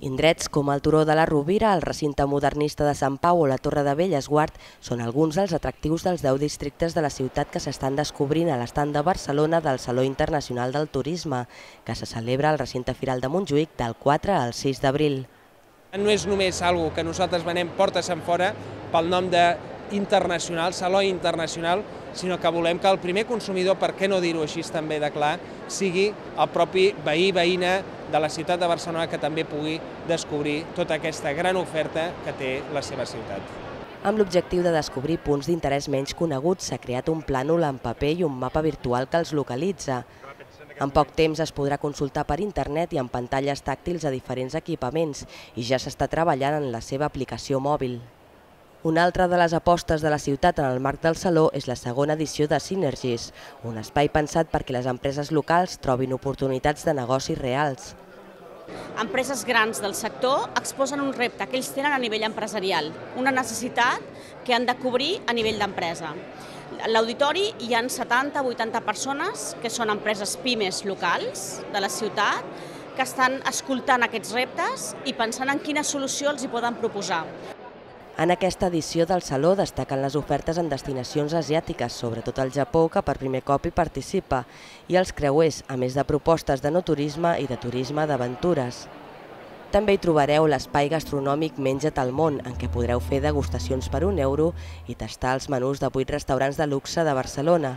Indrets com el Turó de la Rovira, el recinte modernista de Sant Pau o la Torre de Bellesguard són alguns dels atractius dels 10 districtes de la ciutat que s'estan descobrint a l'estand de Barcelona del Saló Internacional del Turisme, que se celebra al recinte firal de Montjuïc del 4 al 6 d'abril. No és només algo que nosaltres venem portes enfora pel nom d'internacional, Saló Internacional, sinó que volem que el primer consumidor, per què no dir-ho així també de clar, sigui el propi veïna de la ciutat de Barcelona que també pugui descobrir tota aquesta gran oferta que té la seva ciutat. Amb l'objectiu de descobrir punts d'interès menys coneguts, s'ha creat un plànol en paper i un mapa virtual que els localitza. En poc temps es podrà consultar per internet i en pantalles tàctils a diferents equipaments i ja s'està treballant en la seva aplicació mòbil. Una altra de les apostes de la ciutat en el marc del Saló és la segona edició de Synergies, un espai pensat perquè les empreses locals trobin oportunitats de negocis reals. Empreses grans del sector exposen un repte que ells tenen a nivell empresarial, una necessitat que han de cobrir a nivell d'empresa. A l'auditori hi ha 70-80 persones que són empreses pimes locals de la ciutat que estan escoltant aquests reptes i pensant en quina solució els hi poden proposar. En aquesta edició del Saló destaquen les ofertes en destinacions asiàtiques, sobretot el Japó, que per primer cop hi participa, i els creuers, a més de propostes de no turisme i de turisme d'aventures. També hi trobareu l'espai gastronòmic Menja't al món, en què podreu fer degustacions per €1 i tastar els menús de 8 restaurants de luxe de Barcelona.